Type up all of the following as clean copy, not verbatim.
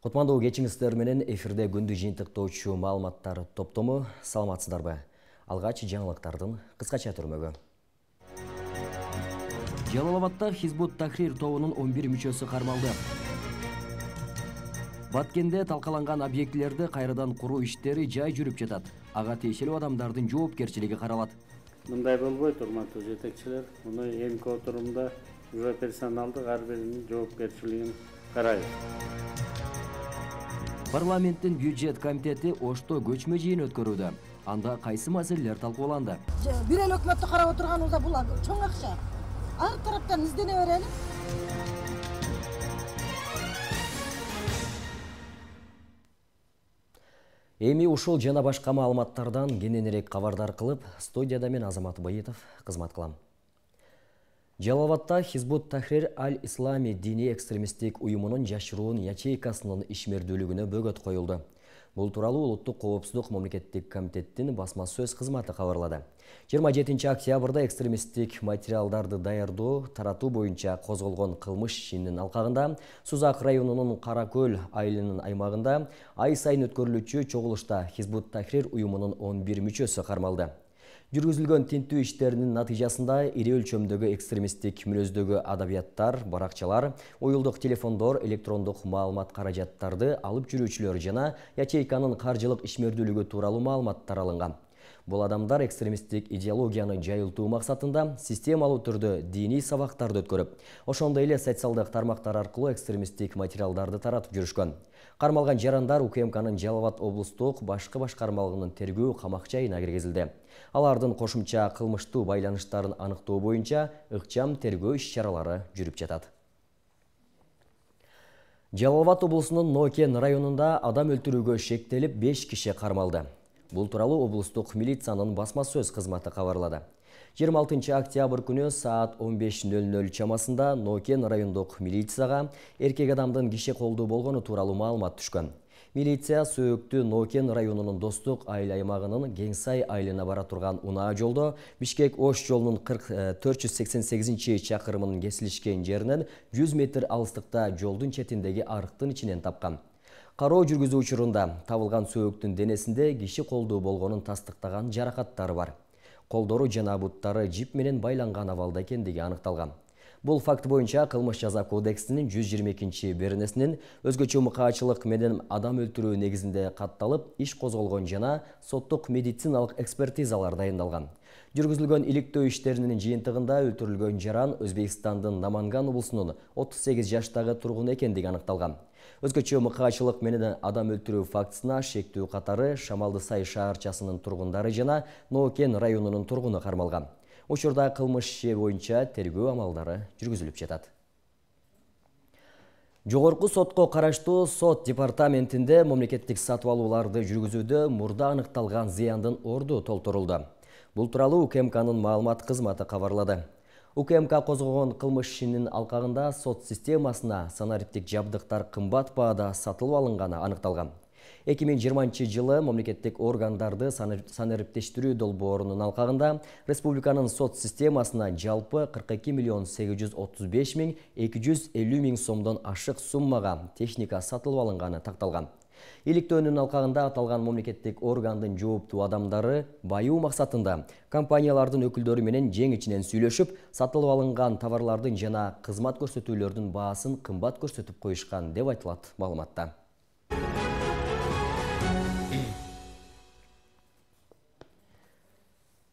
Кутмандуу кечиңиздер менен эфирде күндү жыйынтыктоочу маалыматтар топтому. Саламатсыздарбы? Алгач жаңылыктардын кыскача түрмөгү. Жалал-Абадта Хизбут Тахрир тобунун 11 мүчөсү кармалды. Баткенде талкаланган объектилерди кайрадан куруу иштери жай жүрүп жатат. Ага тиешелүү адамдардын жоопкерчилиги каралат. Мындай болбойт, урматтуу жетекчилер. Муну эмки отурумда уже персоналдык ар биринин жоопкерчилигин карайбыз. Парламенттин бюджет комитети Ошто көчмө жыйын өткөрүүдө. Анда кайсы маселелер талкууланды? Бир эле өкмөттү карап отурганыбызда бул чоң акча. Ар тараптан издене берели. Эми ушул жана башка маалыматтардан кененирээк кабардар кылып, студияда мен Азамат Байытов кызмат кылам. Жалал-Абадта Хизбут Тахрир аль-Ислами диний экстремисттик уюмунун жашыруун ячейкасынын ишмердүүлүгүнө бөгөт коюлду. Бул тууралуу Улуттук коопсуздук мамлекеттик комитеттин басма сөз кызматы кабарлады. 27 октябрда экстремисттик материалдарды даярдоо, таратуу боюнча козголгон кылмыш ишинин алкагында Сузак районунун Каракөл айылынын аймагында ай сайын өткөрүлүүчү чогулушта Хизбут Тахрир уюмунун 11 мүчөсү кармалды. Жүргүзүлгөн тинтүү иштеринин натыйжасында ири өлчөмдөгү экстремисттик мүнөздөгү адабияттар, баракчалар, уюлдук телефондор, электрондук маалымат каражаттарды алып жүрүүчүлөр жана ячейканын каржылык ишмердүүлүгү тууралуу маалыматтар алынган. Бул адамдар экстремисттик идеологияны жайылтуу максатында системалуу түрдө диний сабактарды өткөрүп, ошондой эле социалдык тармактар аркылуу экстремисттик материалдарды таратып жүрүшкөн. Кармалган жарандар УКМКнын Жалал-Абад облустук башкы башкармалыгынын тергөө камак жайына киргизилди. Алардын кошумча кылмыштуу байланыштарын аныктоо боюнча ыкчам тергөө иш-чаралары жүрүп жатат. Жалал-Абад облусунун Нокен районунда адам өлтүрүүгө шектелип 5 киши кармалды. Бул тууралуу облустук милициянын басма сөз кызматы кабарлады. 26 октябрь күнү саат 15:00 чамасында Нокен райондук милицияга эркек адамдын киши колдуу болгону тууралуу маалымат түшкөн. Милиция сөөктү Нокен районунун Достук айыл аймагынын Кеңсай айылына бара турган унаа жолдо Бишкек-Ош жолунун 488 чакырымынын кесилишкен жеринен 100 метр алыстыкта жолдун четиндеги арыктын ичинен тапкан. Кароо жүргүзүү учурунда табылган сөөктүн денесинде киши колдуу болгонун тастыктаган жаракаттары бар. Колдору жана буттары жип менен байланган абалда экендиги аныкталган. Бул факт боюнча Кылмыш жаза кодексинин 122-беренесинин өзгөчө мыкаачылык менен адам өлтүрүү негизинде катталып, иш козголгон жана соттук медициналык экспертизалар дайындалган. Жүргүзүлгөн иликтөө иштеринин жыйынтыгында өлтүрүлгөн жаран Өзбекстандын Наманган облусунун 38 жаштагы тургуну экендиги аныкталган. Өзгөчө мыкаачылык менен адам өлтүрүү фактысына шектүү катары Шамалды Сай шаарчасынын тургундары жана Нокен районунун тургуну кармалган. Учурда кылмыш иши боюнча тергөө амалдары жүргүзүлүп жатат. Жогорку сотко караштуу сот департаментинде мамлекеттик сатып алууларды жүргүзүүдө мурда аныкталган зыяндын орду толтурулду. Бул тууралуу УКМКнын маалымат кызматы кабарлады. УКМК козгогон кылмыш ишинин алкагында сот системасына санариптик жабдыктар кымбат баада сатылып алынганы аныкталган. 2020 жылы мамлекеттик органдарды санариптештирүү долбоорунун алкагында республиканын сот системасына жалпы 42,835,250 сомдон ашык суммага техника сатылып алынганы такталган. Иликтөөнүн алкагында аталган мамлекеттик органдын жооптуу адамдары баюу максатында компаниялардын өкүлдөрү менен жең ичинен сүйлөшүп, сатылып алынган товарлардын жана кызмат көрсөтүүлөрдүн баасын кымбат көрсөтүп коюшкан деп айтылат маалыматта.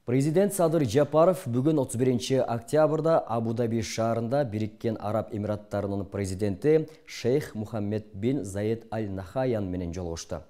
Президент Садыр Жапаров бүгүн 31 октябрда Абу-Даби шаарында Бириккен Араб Эмираттарынын президенти Шейх Мухаммед бин Заед аль-Нахаян менен жолугушту.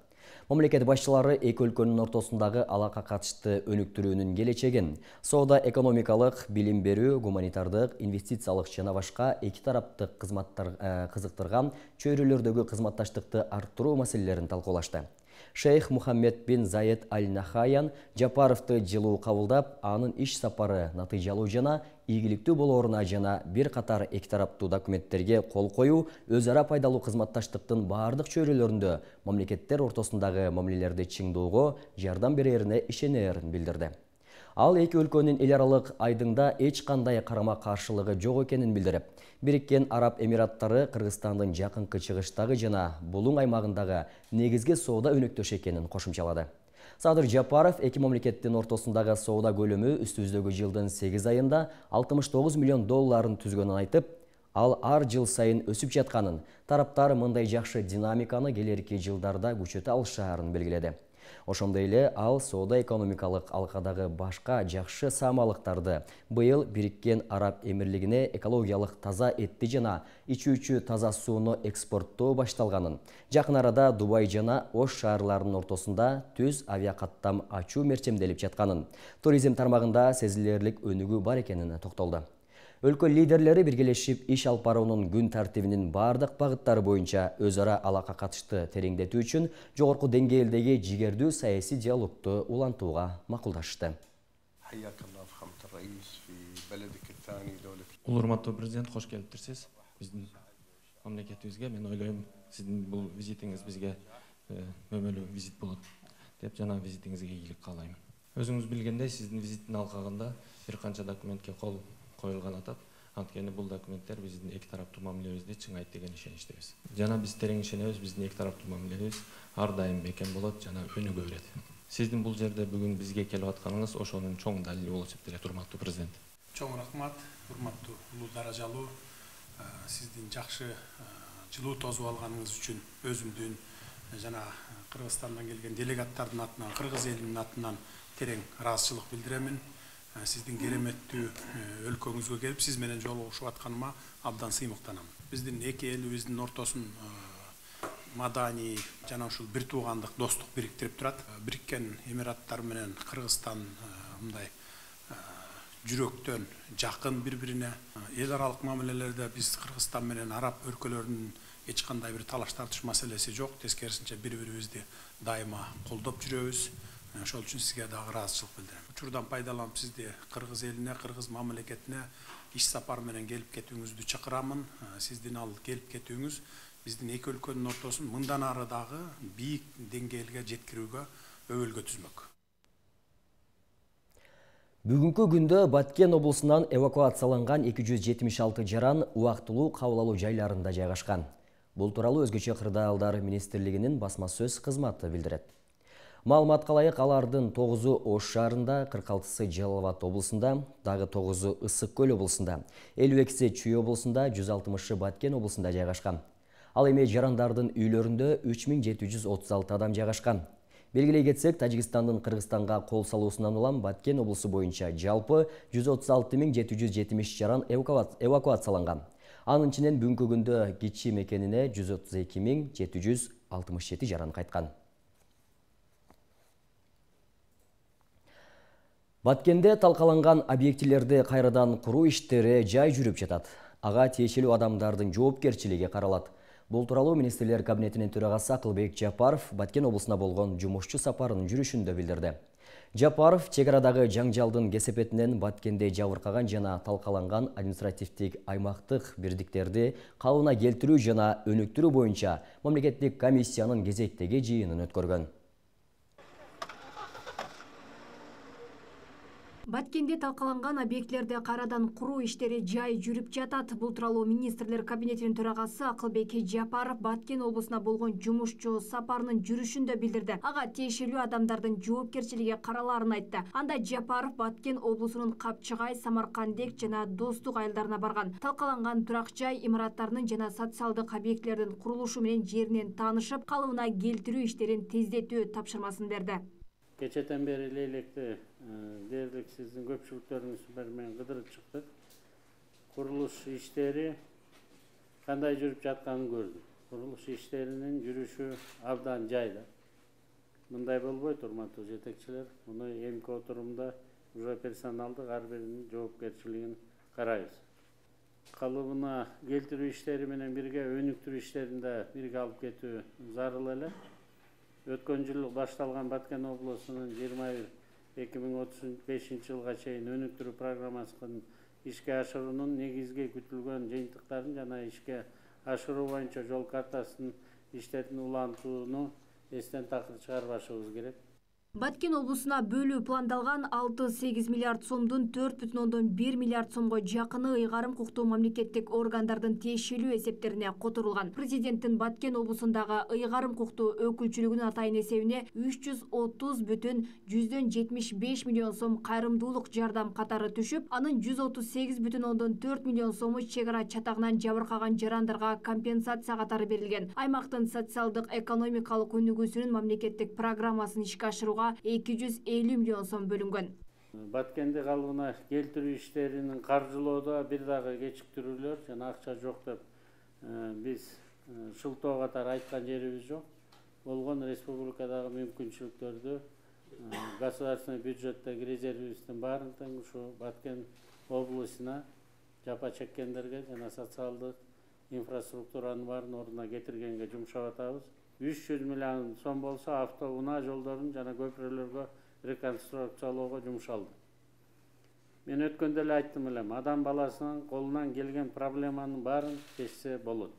Мамлекет башчылары эки өлкөнүн ортосундагы алака катышты өнүктүрүүнүн келечегин, соода экономикалык, билим берүү, гуманитардык, инвестициялык жана башка эки тараптык кызыктырган чөйрөлөрдөгү кызматташтыкты арттыруу маселелерин талкуулашты. Шейх Мухаммед бин Заед аль-Нахаян Жапаровду жылуу кабылдап, анын иш сапары натыйжалуу жана ийгиликтүү болооруна жана бир катар эки тараптуу документтерге кол коюу өз ара пайдалуу кызматташтыктын баардык чөйрөлөрүндө мамлекеттер ортосундагы мамилелерди чыңдоого жардам берерине ишенерин билдирди. Ал эки өлкөнүн эл аралык айдыңда эч кандай карама-каршылыгы жок экенин билдирип, Бириккен Араб Эмираттары Кыргызстандын жакынкы чыгыштагы жана булуң аймагындагы негизги соода өнөктөшү экенин кошумчалады. Садыр Жапаров эки мамлекеттин ортосундагы соода көлөмү үстүбүздөгү жылдын 8 айында 69 миллион долларын түзгөнүн айтып, ал ар жыл сайын өсүп жатканын, тараптар мындай жакшы динамиканы келерки жылдарда күчөтө алышаарын белгиледи. Ошондой эле ал соода экономикалык алкадагы башка жакшы саамалыктарды быйыл Бириккен Араб Эмирлигине экологиялык таза этти жана ичүүчү таза сууну экспорттоо башталганын, жакын арада Дубай жана Ош шаарларынын ортосунда түз авиакаттам ачуу мерчемделип жатканын, туризм тармагында сезилерлик өнүгүү бар экенин токтолду. Өлкө лидерлери биргелешип иш алып баруунун күн тартибинин бардык багыттары боюнча өз ара алака катышты тереңдетүү үчүн жогорку деңгээлдеги жигердүү саясий диалогду улантууга макулдашты. Урматтуу президент, кош келиптирсиз. Биздин мамлекетибизге, мен ойлойм, сиздин бул визитиңиз бизге өмөлүү визит болот деп жана визитиңизге ийгилик каалайм. Өзүңүз билгендей, сиздин визиттин алкагында бир канча документке кол коюлган атат. Анткени бул документтер биздин эки тараптуу мамилебизди чыңайт деген ишеничтебиз. Жана биз терең ишенебиз, биздин эки тараптуу мамилебиз ар дайым бекем болот жана өнүгө берет. Сиздин бул жерде бүгүн бизге келип атканыңыз ошонун чоң далили болуп эсептелет, урматтуу президент. Чоң рахмат, урматтуу улуу даражалуу, сиздин жакшы жылуу тосуп алганыңыз үчүн өзүмдүн жана Кыргызстандан келген делегаттардын атынан, кыргыз элинин атынан терең ыраазычылык билдиремин. Сиздин кереметтүү өлкөңүзгө келип, сиз менен жолугушуп атканыма абдан сыймыктанам. Биздин эки элибиздин ортосун маданий жана ушул бир туугандык достук бириктирип турат. Бириккен Эмираттар менен Кыргызстан мындай жүрөктөн жакын бири-бирине. Эл аралык мамилелерде биз Кыргызстан менен араб өлкөлөрүнүн эч кандай бир талаш тартыш маселеси жок. Тескерисинче бири-бирибизди дайыма колдоп жүрөбүз. Ошол үчүн сизге дагы ыраазычылык билдирем. Учурдан пайдаланып сизди кыргыз элине, кыргыз мамлекетине иш сапар менен келип кетүүңүздү чакырамын. Сиздин ал келип кетүүңүз биздин эки өлкөнүн ортосун мындан ары дагы бийик деңгээлге жеткирүүгө өбөлгө түзмөк. Бүгүнкү күндө Баткен облусунан эвакуацияланган 276 жаран убактылуу кабыл алуу жайларында жайгашкан. Бул тууралуу Өзгөчө кырдаалдар министрлигинин басма сөз кызматы билдирет. Маалыматка ылайык, алардын 9-у Ош шаарында, 46-сы Жалал Абад облусунда, дагы 9-у Ысык Көл облусунда, 52-си Чүй облусунда, 160-шы Баткен облусунда жайгашкан. Ал эми жарандардын үйлөрүндө 3736 адам жайгашкан. Белгилей кетсек, Тажикстандын Кыргызстанга кол салуусунан улам Баткен облусу боюнча жалпы 136770 жаран эвакуацияланган. Анын ичинен бүгүнкү күндө кичи мекенине 132767 жаран кайткан. Баткенде талкаланган объектилерди кайрадан куруу иштери жай жүрүп жатат. Ага тиешелүү адамдардын жоопкерчилиги каралат. Бул тууралуу министрлер кабинетинин төрагасы Акылбек Жапаров Баткен облусуна болгон жумушчу сапарынын жүрүшүндө билдирди. Жапаров чек арадагы жаңжалдын кесепетинен Баткенде жабыркаган жана талкаланган административдик аймактык бирдиктерди калыбына келтирүү жана өнүктүрүү боюнча мамлекеттик комиссиянын кезектеги жыйынын өткөргөн. Баткенде талкаланган объектилерди кайрадан куруу иштери жай жүрүп жатат. Бул тууралуу министрлер кабинетинин төрагасы Акылбек Жапаров Баткен облусуна болгон жумушчу сапарынын жүрүшүндө билдирди. Ага тиешелүү адамдардын жоопкерчилиги каралаарын айтты. Анда Жапаров Баткен облусунун Капчыгай, Самаркандек жана Достук айылдарына барган. Талкаланган турак жай имараттарынын жана социалдык объектилердин курулушу менен жеринен таанышып, калыбына келтирүү иштерин тездетүү тапшырмасын берди. Кечеден бери электи дээрлик сиздин көпчүлүктөрүңүз менен кыдырып чыктык. Курулуш иштери кандай жүрүп жатканын көрдүк. Курулуш иштеринин жүрүшү абдан жайда. Мындай болбойт, урматтуу жетекчилер. Муну эмки отурумда уже персоналдык ар биринин жоопкерчилигин карайбыз. Калыбына келтирүү иштери менен бирге өнүктүрүү иштерин да бирге алып кетүү зарыл эле. Өткөн жыл башталган Баткен облусунун 21-2035 жылга чейин өнүктүрүү программасын ишке ашыруунун негизги күтүлгөн жыйынтыктарын жана ишке ашыруу боюнча жол картасын иштерин улантууну эстен такыр чыгарбашыбыз керек. Баткен облусуна бөлүү пландалган 6-8 миллиард сомдун 4,1 миллиард сомго жакыны ыйгарым укуктуу мамлекеттик органдардын тиешелүү эсептерине которулган. Президенттин Баткен облусундагы ыйгарым укуктуу өкүлчүлүгүнүн атайын эсебине 330,75 миллион сом кайрымдуулук жардам катары түшүп, анын 138,4 миллион сому чек ара чатагынан жабыркаган жарандарга компенсация катары берилген. Аймактын социалдык экономикалык өнүгүүсүнүн мамлекеттик программасын ишке ашырууга 250 миллион сом бөлүнгөн. Баткенди калыбына келтирүү иштеринин каржылоодо бир дагы кечиктирүүлөр жана акча жок деп биз шылтоо катары айткан жерибиз жок. Болгон республикадагы мүмкүнчүлүктөрдү государственный бюджеттеги резервибиздин баарын тең ушу Баткен облусуна жапа чеккендерге жана социалдык инфраструктуранын баарын ордуна кетиргенге жумшап атабыз. 300 миллион сом болсо автоунаа жолдорун жана көпүрөлөргө реконструкциялоого жумшалды. Мен өткөндө эле айттым элем, адам баласынын колунан келген проблеманын баарын чечсе болот.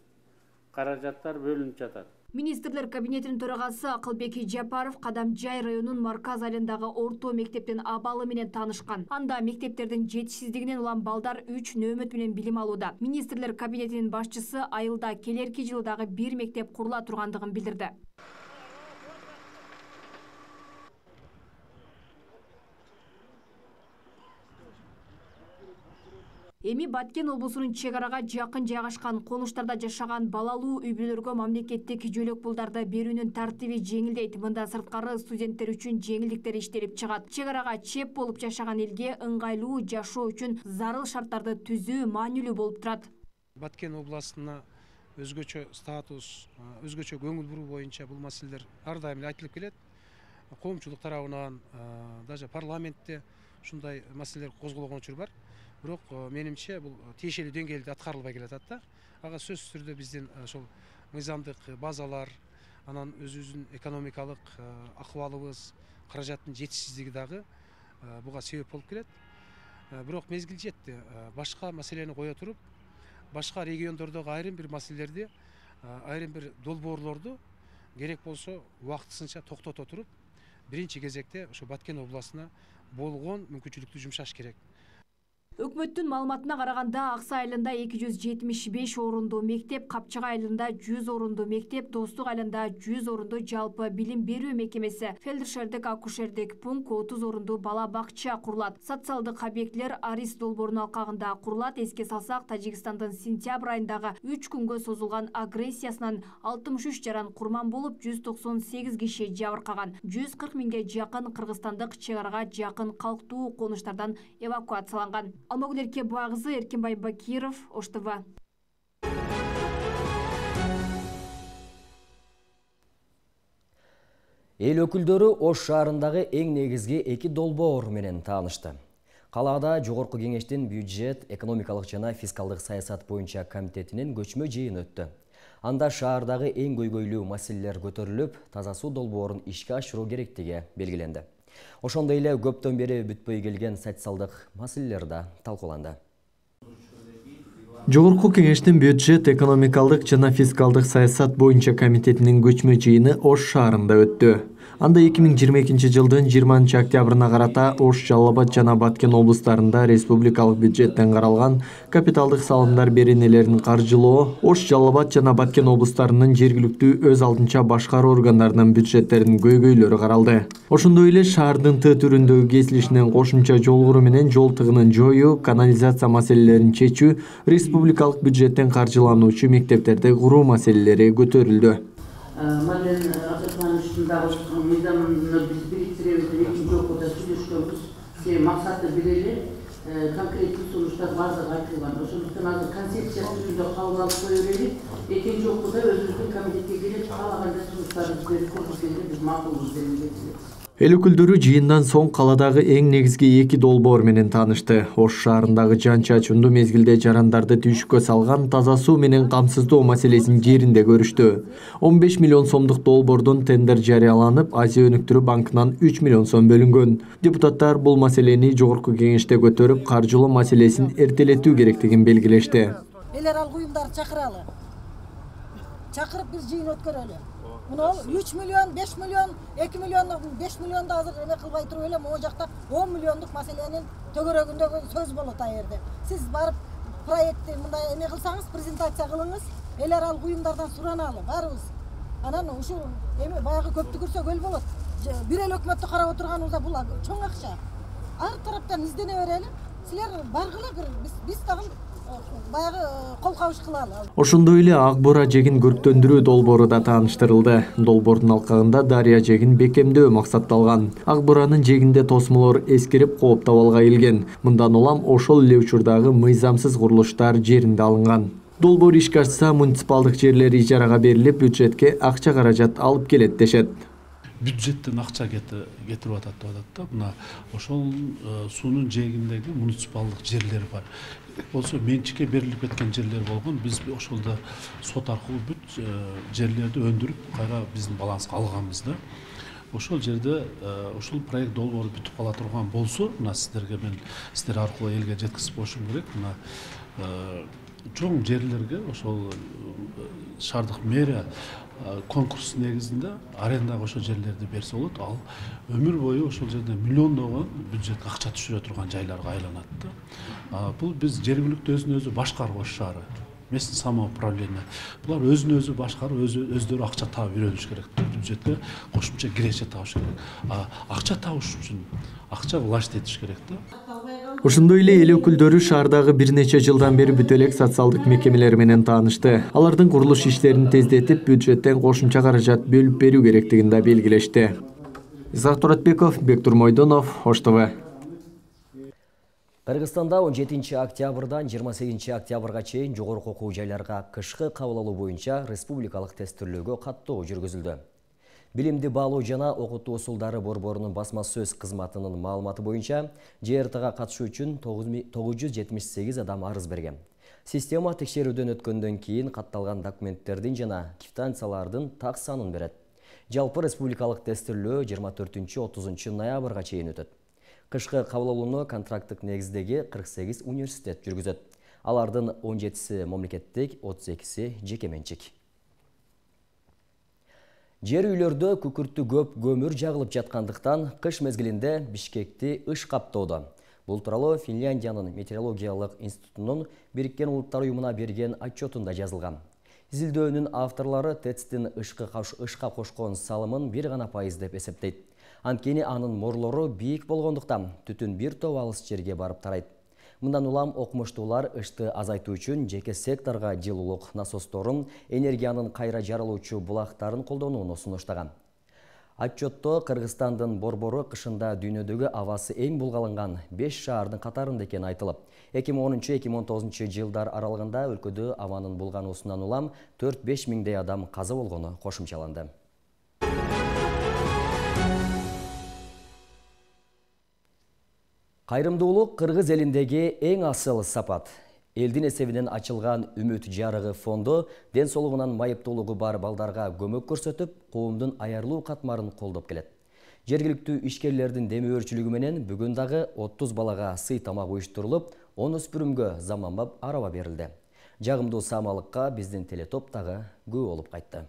Каражаттар бөлүнүп жатат. Министрлер кабинетинин төрагасы Акылбек Жапаров Кадамжай районунун Марказ айылындагы орто мектептин абалы менен таанышкан. Анда мектептердин жетишсиздигинен улам балдар 3 нөөмөт менен билим алууда. Министрлер кабинетинин башчысы айылда келерки жылы дагы бир мектеп курула тургандыгын билдирди. Эми Баткен облусунун чек арага жакын жайгашкан конуштарда жашаган балалуу үй-бүлөлөргө мамлекеттик жөлөк пулдарды берүүнүн тартиби жеңилдейт. Мында сырткары студенттер үчүн жеңилдиктер иштелип чыгат. Чек арага чеп болуп жашаган элге ыңгайлуу жашоо үчүн зарыл шарттарды түзүү маанилүү болуп турат. Баткен областына өзгөчө статус, өзгөчө көңүл буруу боюнча бул маселелер ар дайым айтылып келет. Коомчулук тарабынан, даже парламентте ушундай маселелер козголгон учур бар. Бирок менимче бул тиешелүү деңгээлде аткарылбай келатат да. Ага сөзсүз түрдө биздин ошол мыйзамдык базалар, анан өзүбүздүн экономикалык акыбалыбыз, каражаттын жетишсиздиги дагы буга себеп болуп келет. Бирок мезгил жетти. Башка маселени кое туруп, башка региондордогу айрым бир маселелерди, айрым бир долбоорлорду керек болсо убактысынча токтото туруп, биринчи кезекте ошо Баткен областына болгон мүмкүнчүлүктү жумшаш керек. Өкмөттүн маалыматына караганда Аксай айылында 275 орундуу мектеп, Капчыга айылында 100 орундуу мектеп, Достук айылында 100 орундуу жалпы билим берүү мекемеси, фельдшердик акушердик пункт, 30 орундуу бала бакча курулат. Социалдык объектилер Арис долбоорунун алкагында курулат. Эске салсак, Тажикстандын сентябрь айындагы 3 күнгө созулган агрессиясынан 63 жаран курман болуп, 198 киши жабыркаган. 140 миңге жакын кыргызстандык чек арага жакын калктуу конуштардан эвакуацияланган. Алмагүл Эркебайкызы, Эркинбай Бакиров, Ош ТВ. Эл өкүлдөрү Ош шаарындагы эң негизги 2 долбоор менен таанышты. Калаада Жогорку кеңештин бюджет, экономикалык жана фискалдык саясат боюнча комитетинин көчмө жыйыны өттү. Анда шаардагы эң көйгөйлүү маселелер көтөрүлүп, таза суу долбоорун ишке ашыруу керектиги белгиленди. Ошондой эле көптөн бери бүтпөй келген социалдык маселелер да талкууланды. Жогорку кеңештин бюджет, экономикалык жана фискалдык саясат боюнча комитетинин көчмө жыйыны Ош шаарында өттү. Анда 2022 жылдын 20 октябрына карата Ош, Жалал Абад жана Баткен облустарында республикалык бюджеттен каралган капиталдык салымдар беренелерин каржылоо, Ош, Жалал Абад жана Баткен облустарынын жергиликтүү өз алдынча башкаруу органдарынын бюджеттеринин көйгөйлөрү каралды. Ошондой эле шаардын Т түрүндөгү кесилишинен кошумча жол куруу менен жол тыгынын жоюу, канализация маселелерин чечүү, республикалык бюджеттен каржылануучу мектептерди куруу маселелери көтөрүлдү. Мален Атыркан үстүндагы мыйзамны биз бириктиребиз деп экинчи окууда сүйлөшкөнбүз. Максаты бир эле, конкреттүү сунуштар баардыгы айтылган. Ошондуктан азыр концепция түрүндө кабыл алып кое берели. Экинчи окууда өзүбүздүн комитетке келип каалагандай сунуштарыбызды берип көрсөткенде биз макулбуз деп эсептейбиз. Эл өкүлдөрү жыйындан соң каладагы эң негизги 2 долбоор менен таанышты. Ош шаарындагы жан чачуундуу мезгилде жарандарды түйшүккө салган таза суу менен камсыздоо маселесин жеринде көрүштү. 15 миллион сомдук долбоордон тендер жарыяланып, Азия өнүктүрүү банкынан 3 миллион сом бөлүнгөн. Депутаттар бул маселени жогорку кеңеште көтөрүп, каржылоо маселесин эртелетүү керектигин белгилешти. Элер ал уюмдарды чакыралы. чакырып бир жыйын өткөрөлү. Мына 3 миллион, 5 миллион, 2 миллион, 5 миллионду азыр эме кылбай туруп эле могу жакта 10 миллиондук маселенин төгөрөгүндөгү сөз болот а жерде. Сиз барып проектти мындай эме кылсаңыз, презентация кылыңыз, эл аралык уюмдардан сураналы баарыбыз. Анан ушул эме баягы көптү көрсөк эл болот. Бир эле өкмөттү карап отурганыбызда бул чоң акча. Ар тараптан издене берели. Силер баргыла бир биз дагы баягы кол кабыш кылалы. Ошондой эле Ак Бура жегин көрктөндүрүү долбоору да тааныштырылды. Долбоордун алкагында Дария жегин бекемдөө максатталган. Ак Буранын жегинде тосмолор эскирип кооптоп алга келген. Мындан улам ошол эле учурдагы мыйзамсыз курулуштар жеринде алынган. Долбоор ишке ашса, муниципалдык жерлер ижарага берилип, бюджетке акча каражат алып келет дешет. Бюджеттен акча кетирип атат деп атат да. Мына ошол суунун жээгиндеги муниципалдык жерлер бар. Болсо менчикке берилип кеткен жерлер болгон. Биз ошолдо сот аркылуу бүт жерлерди өндүрүп, кайра биздин баланска алганбыз да. Ошол жерде ошол проект долбоору бүтүп кала турган болсо, мына сиздер аркылуу элге жеткизип коюшум керек. Мына чоң жерлерге ошол шаардык мэрия конкурс негизинде арендага ошол жерлерди берсе болот. Ал өмүр бою ошол жерде миллиондогон бюджетке акча түшүрө турган жайларга айланат да. Бул биз жергиликтүү өзүн өзү башкарып Ош шаары, местный самоуправление. Булар өзүн өзү башкарып, өздөрү акча таап үйрөнүш керек да. Бюджетке кошумча киреше табыш керек. Акча табыш үчүн акча власть этиш керек да. Ошондой эле эл өкүлдөрү шаардагы бир нече жылдан бери бүт элек социалдык мекемелер менен таанышты. Алардын курулуш иштерин тездетип, бюджеттен кошумча каражат бөлүп берүү керектигин да белгилешти. Исак Туратбеков, Бектур Мойдонов, Ош ТВ. Кыргызстанда 17 октябрдан 28 октябрга чейин жогорку окуу жайларга кышкы кабыл алуу боюнча республикалык тесттөөлөөгө каттоо жүргүзүлдү. Билимди баалоо жана окутуу усулдары борборунун басма сөз кызматынын маалыматы боюнча ЖРТга катышуу үчүн 978 адам арыз берген. Система текшерүүдөн өткөндөн кийин катталган документтердин жана квитанциялардын так санын берет. Жалпы республикалык тесттөөлөө 24-30 ноябрга чейин өтөт. Кышкы кабыл алууну контракттык негиздеги 48 университет жүргүзөт. Алардын 17си мамлекеттик, 32си жеке менчик. Жер үйлөрдө күкүрттү көп көмүр жагылып жаткандыктан кыш мезгилинде Бишкекти ыш каптоодо. Бул тууралуу Финляндиянын метеорологиялык институтунун Бириккен Улуттар уюмуна берген отчетунда жазылган. Изилдөөнүн авторлору ТЭЦтин ышка кошкон салымын 1% деп эсептейт. Анткени анын морлору бийик болгондуктан түтүн бир топ алыс жерге барып тарайт. Мындан улам окумуштуулар ышты азайтуу үчүн жеке секторго жылуулук насосторун, энергиянын кайра жарылуучу булактарын колдонууну сунуштаган. Отчетто Кыргызстандын борбору кышында дүйнөдөгү абасы эң булгаланган 5 шаардын катарында экени айтылып, 2010-2019 жылдар аралыгында өлкөдө абанын булгануусунан улам 4-5 миңдей адам каза болгону кошумчаланды. Кайрымдуулук Кыргыз элиндеги эң асыл сапат. Элдин эсебинен ачылган Үмүт жарыгы фонду ден соолугунан майыптуулугу бар балдарга көмөк көрсөтүп, коомдун аярлуу катмарын колдоп келет. Жергиликтүү ишкерлердин демөөрчүлүгү менен бүгүн дагы 30 балага сый тамак уюштурулуп, 10 өспүрүмгө заманбап араба берилди. Жагымдуу саамалыкка биздин телетоп дагы күбө болуп кайтты.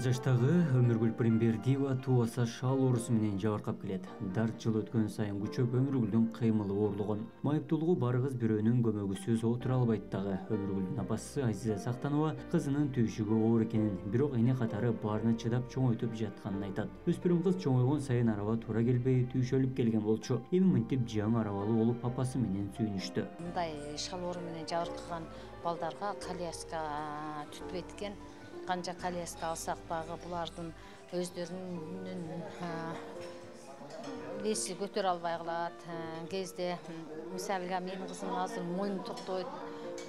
жаштагы Өмүргүл Примбердиева туаса шал оорусу менен жабыркап келет. Дарт жыл өткөн сайын күчөп Өмүргүлдүн кыймылы оорлогон. Майыптуулугу бар кыз бирөөнүн көмөгүсүз отура албайт дагы. Өмүргүлдүн апасы Азиза Сактанова кызынын түйшүгү оор экенин, бирок эне катары баарына чыдап чоңойтуп жатканын айтат. Өспүрүм кыз чоңойгон сайын араба туура келбей түйшөлүп келген болчу. Эми мынтип жаңы арабалуу болуп папасы менен сүйүнүштү. Мындай шал оору менен жабыркаган балдарга коляска түтпөйт экен. Канча коляска алсак дагы булардын өздөрүнүн веси көтөрө албай калат. Кезде мисалга менин кызым азыр мойну токтобойт,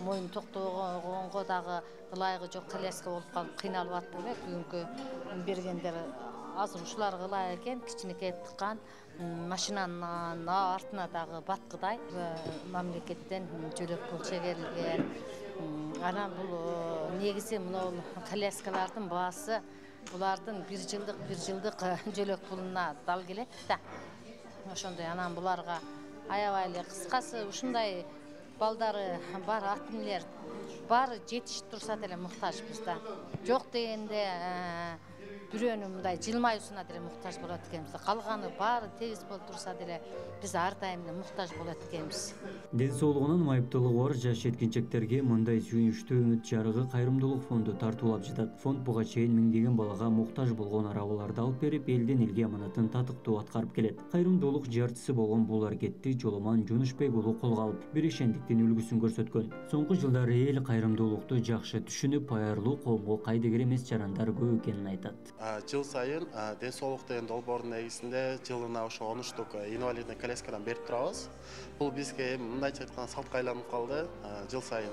моюн токтогонго дагы ылайыгы жок коляска болуп калып кыйналып аттык эле. Бүгүнкү бергендер азыр ушулар ылайык экен, кичинекей тыккан машинанын артына дагы баткыдай мамлекеттен жөлөк пул чегерилген. Анан бул негизи мына коляскалардын баасы булардын бир жылдык жөлөк пулуна дал келет да. Ошондой анан буларга аябай эле кыскасы ушундай балдары бар ат эмнелер баары жетишип турса деле муктажбыз да. Жок дегенде бирөөнүн мындай жылмаюусуна деле муктаж болот экенбиз. Калганы баары тегиз болуп турса деле биз ар дайым муктаж болот экенбиз. Ден соолугунан майыптуулугу бар жаш жеткинчектерге мындай сүйүнүчтүү үмүт жарыгы кайрымдуулук фонду тартуулап жатат. Фонд буга чейин миңдеген балага муктаж болгон арабаларды алып берип, элден элге аманатын татыктуу аткарып келет. Кайрымдуулук жарчысы болгон бул аракетти Жоломан Жунушбек уулу колго алып, бирешендиктин үлгүсүн көрсөткөн. Соңку жылдары эл кайрымдуулукту жакшы түшүнүп, аярлуу коомго кайдыгер эмес жарандар көп экенин айтат. Жыл сайын ден соолук деген долбоордун негизинде жылына ошо 13 штук инвалидный коляскадан берип турабыз. Бул бизге мындайча айтканда салтка айланып калды жыл сайын.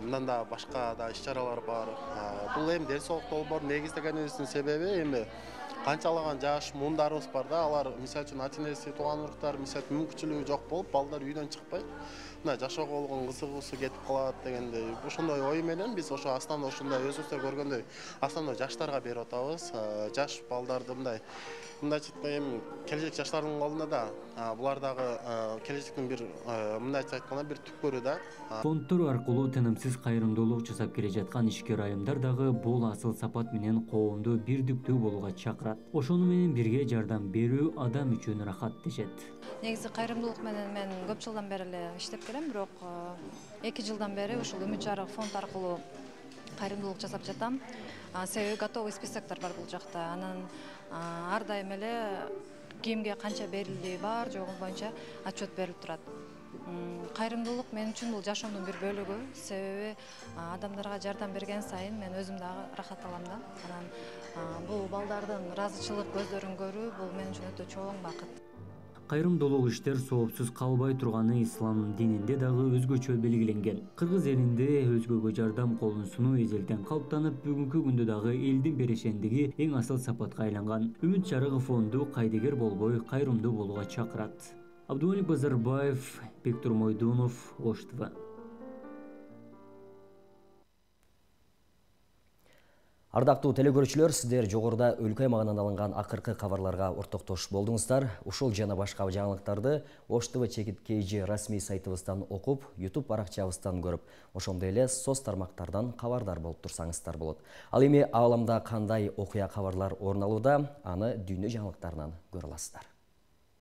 Мындан да башка да иш-чаралар бар. Бул эми ден соолук долбоорун негиздегенибиздин себеби эми канчалаган жаш муундарыбыз бар да, алар мисалы үчүн ата-энеси, тууган уруктар мисалы мүмкүнчүлүгү жок болуп, балдар үйдөн чыкпайт. Мына жашоого болгон кызыгуусу кетип калат дегендей ошондой ой менен биз ошо основной ушундай өзүңүздөр көргөндөй основной жаштарга берип атабыз. Жаш балдарды мындайча эми келечек жаштардын колунда да булар дагы келечектин бир мындайча айтканда бир түпкөрү да. Фонддор аркылуу тынымсыз кайрымдуулук жасап келе жаткан ишкер айымдар дагы бул асыл сапат менен коомду бирдиктүү болууга чакырат. Ошону менен бирге жардам берүү адам үчүн рахат дешет. Негизи кайрымдуулук менен мен көп жылдан бери эле иштеп келем, бирок 2 жылдан бери ушул Үмүт жарык фонд аркылуу кайрымдуулук жасап жатам. Себеби готовый списоктор бар бул жакта. Анан ар дайым эле кимге канча берилди бар жогу боюнча отчет берилип турат. Кайрымдуулук мен үчүн бул жашоомдун бир бөлүгү. Себеби адамдарга жардам берген сайын мен өзүм дагы рахат алам да. Анан бул балдардын ыраазычылык көздөрүн көрүү бул мен үчүн өтө чоң бакыт. Кайрымдуулук иштер соопсуз калбай турганы ислам дининде дагы өзгөчө белгиленген. Кыргыз элинде өзгөгө жардам колун сунуу эзелтен калыптанып, бүгүнкү күндө дагы элдин берешендиги эң асыл сапатка айланган. Үмүт жарыгы фонду кайдыгер болбой, кайрымдуу болууга чакырат. Абдумалик Базарбаев, Бектур Мойдунов, Ош ТВ. Ардактуу телекөрүүчүлөр, сиздер жогоруда өлкө аймагынан алынган акыркы кабарларга ортоктош болдуңуздар. Ушул жана башка жаңылыктарды Ош ТВ чекит KG расмий сайтыбыздан окуп, YouTube баракчабыздан көрүп, ошондой эле соц тармактардан кабардар болуп турсаңыздар болот. Ал эми ааламда кандай окуя кабарлар орун алууда, аны дүйнө жаңылыктарынан көрө аласыздар.